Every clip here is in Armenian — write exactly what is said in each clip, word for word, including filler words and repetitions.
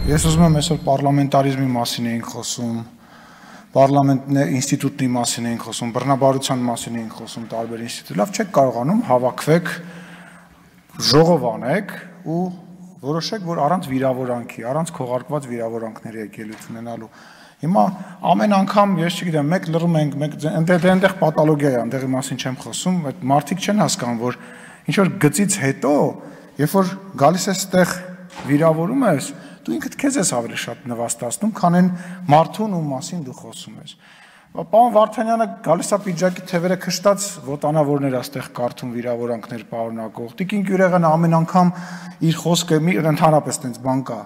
Ես ուզում եմ այսօր պարլամենտարիզմի մասին էինք խոսում, պարլամենտ ինստիտուտի մասին էինք խոսում, բռնաբարության մասին էինք խոսում տարբեր ինստիտուտ, լավ չեք կարողանում հավաքվեք, ժողով անեք ու որոշեք, որ առանց վիրավորանքի, առանց քողարկված վիրավորանքների եք ելույթ ունենալու։ Հիմա ամեն անգամ, ես չգիտեմ, մեկ լռում ենք, մեկ այնտեղ պաթոլոգիա է, այնտեղի մասին չեմ խոսում, այդ մարդիկ չեն հասկանում, որ ինչ որ գծից հետո, երբ որ գալիս ես այդտեղ վիրավորում ես, դու ինքդ քեզ ես ավելի շատ նվաստացնում, քան այն մարդուն ում մասին դու խոսում ես։ Պարոն Վարդանյանը գալիս է պիջակի թևերը քշտած ոտանավորներ այստեղ կարդում վիրավորանքներ պարունակող։ Տիկին Գյուրեղյանը ամեն անգամ իր խոսքը ընդհանրապես տենց բան կա,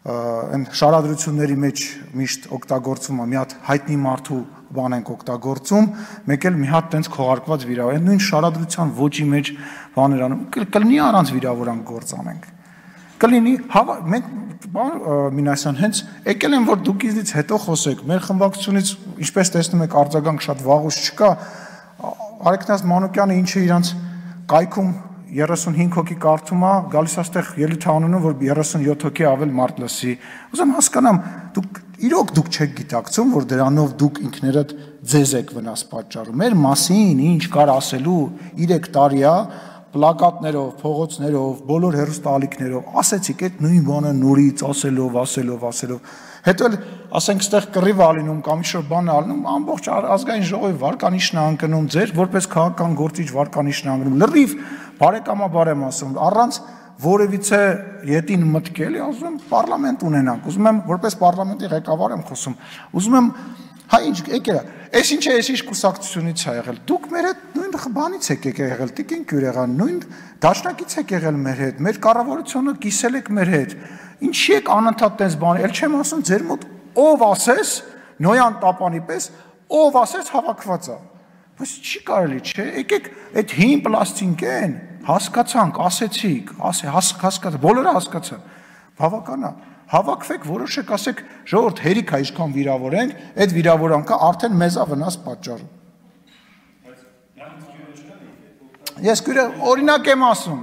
այն շարադրությունների մեջ միշտ օգտագործվում է, մի հատ հայտնի մարդու բան ենք օգտագործում, մեկ էլ մի հատ տենց քողարկված վիրավոր, նույն շարադրության ոճի մեջ բաներ անում, կլինի առանց վիրավորանք գործ անենք։ Կլինի, մենք Մինասյան հենց եկել են, որ դուք ինձնից հետո խոսեք, մեր խմբակցությունից, ինչպես տեսնում եք, արձագանք շատ վաղուց չկա, Արեգնաս Մանուկյանը ինչը իրանց կայքում երեսունհինգ հոգի կարդում է, գալիս այստեղ ելույթ անանում, որ երեսունյոթ հոգի ավել մարդ լսի։ Ուզում հասկանամ, դուք իրոք դուք չեք գիտակցում, որ դրանով դուք ինքներդ ձեզ եք վնաս պատճառում։ Մեր մասին ինչ կար ասելու երեք տարի է, պլակատներով, փողոցներով, բոլոր հեռուստաալիքներով, ասեցիք այդ նույն բանը նորից ասելով, ասելով, ասելով։ Հետո էլ ասենք ստեղ կռիվ ալինում կամ ինչ-որ բան ալնում, ամբողջ ազգային ժողովի վարկանիշն է անկնում, ձեր որպես քաղաքական գործիչ վարկանիշն է անկնում։ Լրիվ բարեկամաբար եմ ասում, առանց որևիցե ետին մտքելի, ասում եմ պարլամենտ ունենանք, ուզում եմ որպես պարլամենտի ղեկավար եմ խոսում, ուզում եմ հա ինչ եկել է, այս ինչ է, այս ինչ կուսակցությունից է եղել, դուք մեր հետ նույն բանից եք եղել, Տիկին Գյուրեղյան, նույն դաշնակից եք եղել մեր հետ, մեր կառավարությունը կիսել եք մեր հետ, ինչի եք անընդհատ տես բանի, էլ չեմ ասում ձեր մոտ ով ասես, Նոյան Տապանի պես, ով ասես հավաքված է, բայց չի կարելի, չէ, եկեք այդ հին պլաստինկեն, հասկացանք, ասեցիք, հասկացանք, բոլորը հասկացան, բավական է, հավաքվեք, որոշեք, ասեք, ժողովուրդ հերիք է ինչքան վիրավորենք, այդ վիրավորանքը արդեն մեզ է վնաս պատճառում։ Ես օրինակ եմ ասում,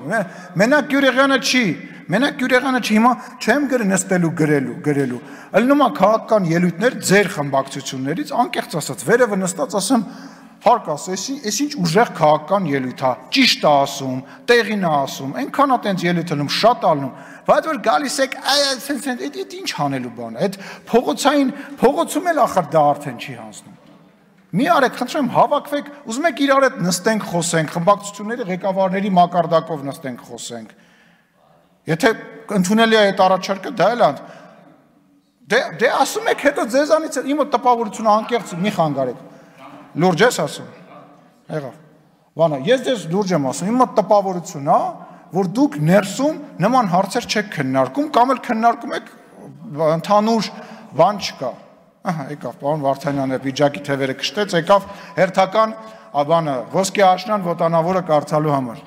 մենակ Գյուրեղյանը չի, մենակ Գյուրեղյանը չի, հիմա չեմ գրել նստելու գրելու, գրելու, ելնում է քաղաքական ելույթներ ձեր խմբակցություններից, անկեղծ ասած, վերևը նստած ասեմ, հարկ ասես, այս ինչ ուժեղ քաղաքական ելույթ է, ճիշտ է ասում, տեղին է ասում, այնքան է տենց ելույթ անում, շատ ալնում, բայց որ գալիս եք, այդ ինչ հանելու բան է, այդ փողոցային, փողոցում էլ ախր դա արդեն չի հանձնում։ Մի արեք, խնդրում եմ, հավաքվեք, ուզում եք իրար հետ նստենք, խոսենք, խմբակցությունների ղեկավարների մակարդակով նստենք, խոսենք։ Եթե ընդունելի է այդ առաջարկը, դա էլ անդ։ Դե ասում եք, հետո ձեզանից իմ տպավորությունը անկեղծ մի խանգարեք։ Լուրջ ես ասում, եղավ, վանա, ես դες լուրջ եմ ասում, իմ տպավորություն է, որ դուք ներսում նման հարցեր չեք քննարկում, կամ էլ քննարկում եք ընդհանուր բան չկա, ահա, եկավ, պարոն Վարդանյանը պիջակի թևերը քշտեց, եկավ հերթական բանը, ոսկե աշնան ոտանավորը կարդալու համար։